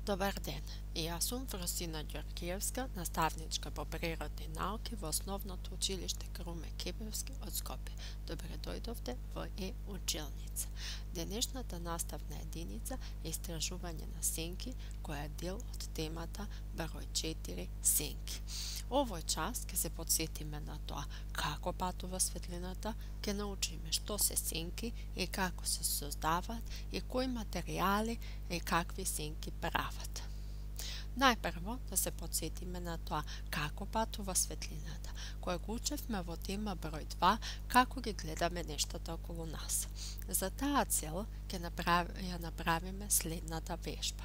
Добар ден, јас сум Фросина Ѓоргиевска, наставничка по природни науки во Основното училиште Круме Кипевски од Скопје. Добре дојдовте во училница. Денешната наставна единица е истражување на сенки, која е дел од темата број 4 сенки. Овој час ќе се подсетиме на тоа како патува светлината, ќе научиме што се сенки и како се создаваат и кои материјали и какви сенки прават. Најпрво да се подсетиме на тоа како патува светлината, која го учевме во тема број 2, како ги гледаме нештата околу нас. За таа цел ќе направиме следната вежба.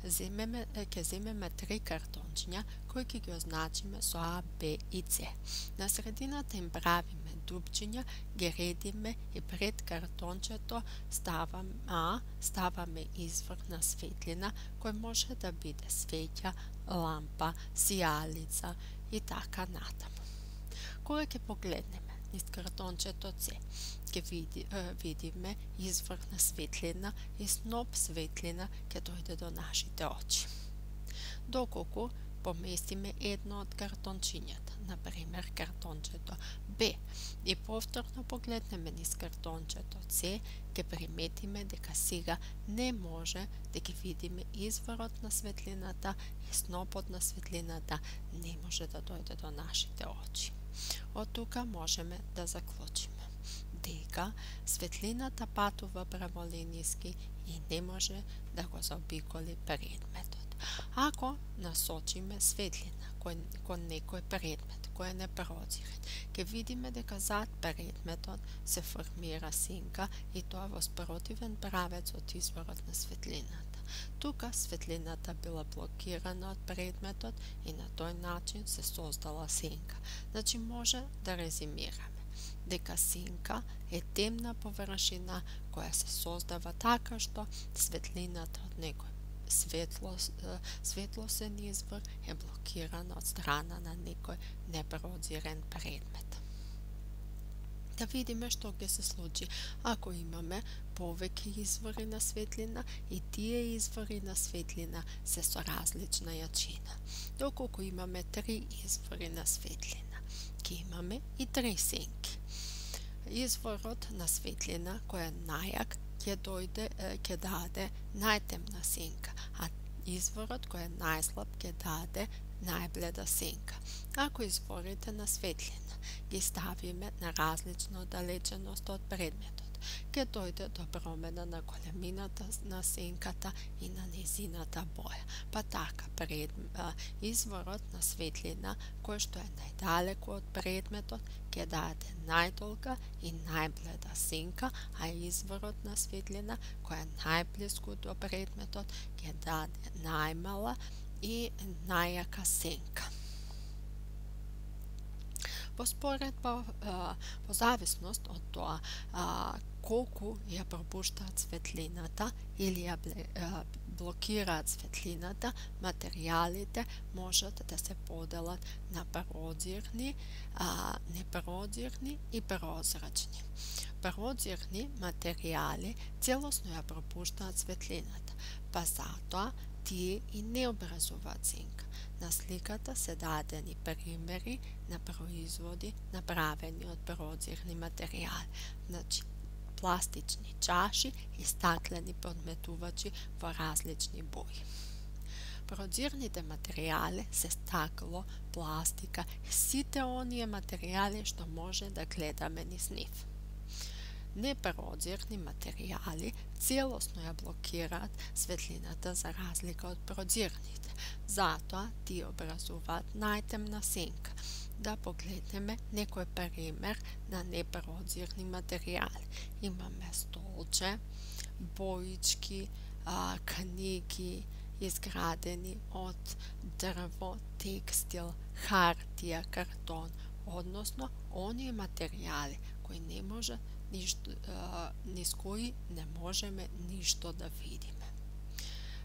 Ќе земеме 3 картончиња кои ќе ги означиме со А, Б и С. На средината им правиме дупчиња, ги редиме и пред картончето ставаме извор на светлина кој може да биде свеќа, лампа, сијалица и така натаму. Кога ќе погледнеме низ картончето С, ќе видиме извор на светлина и сноп светлина ќе дојде до нашите очи. Доколку поместиме едно од картончињата, например картончето Б, и повторно погледнеме низ картончето С, ќе приметиме дека сега не може да ги видиме изворот на светлината и снопот на светлината не може да дојде до нашите очи. Од тука можеме да заклучиме дека светлината патува праволиниски и не може да го заобиколи предметот. Ако насочиме светлина кон некој предмет кој е непрозирен, ќе видиме дека зад предметот се формира сенка и тоа во спротивен правец од изворот на светлината. Тука светлината била блокирана од предметот и на тој начин се создала сенка. Значи може да резимираме дека сенка е темна површина која се создава така што светлината од некој светлосен извор е блокирана од страна на некој непрозирен предмет. Да видиме што ќе се случи ако имаме повеќе извори на светлина и тие извори на светлина се со различна јачина. Доколку имаме 3 извори на светлина, ќе имаме и 3 сенки. Изворот на светлина кој е најак ќе даде најтемна сенка, а изворот кој е најслаб ќе даде најбледа сенка. Ако изворите на светлина ги ставиме на различна оддалеченост од предметот, ќе дојде до промена на големината на сенката и на незината боја. Па така, изворот на светлина кој што е најдалеку од предметот ќе даде најдолга и најбледа сенка, а изворот на светлина кој е најблиску до предметот ќе даде најмала и најјака сенка. Во споредба, по зависност од тоа колку ја пропуштаат светлината или ја блокираат светлината, материјалите можат да се поделат на прозирни, непрозирни и прозрачни. Прозирни материјали целосно ја пропуштаат светлината, па затоа тие и не образуваат сенка. На сликата се дадени примери на производи направени од прозирни материјали, значи пластични чаши и стаклени подметувачи во различни бои. Прозирните материјали се стакло, пластика и сите оние материјали што може да гледаме низ нив. Непрозирни материјали целосно ја блокираат светлината за разлика од прозирните. Затоа тие образуваат најтемна сенка. Да погледнеме некој пример на непрозирни материјали. Имаме столче, боички, книги изградени од дрво, текстил, хартија, картон, односно оние материјали кои не може низ кои не можеме ништо да видиме.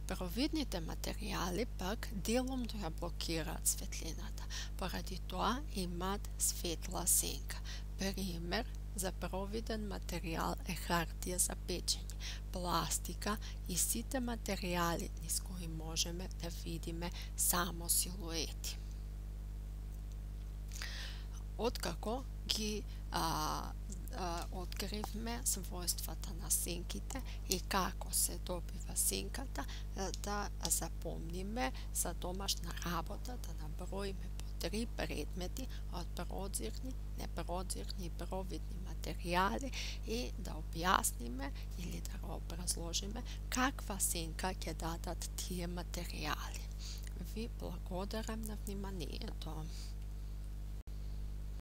Провидните материјали пак деломно ја блокираат светлината, поради тоа имаат светла сенка. Пример за провиден материјал е хартија за печење, пластика и сите материјали низ кои можеме да видиме само силуети. Откако ги откривме својствата на синките и како се добива синката, да запомниме за домашна работа да наброиме по 3 предмети од прозирни, непрозирни и провидни материјали и да објасниме или да го образложиме каква синка ќе дадат тие материјали. Ви благодарам на вниманието.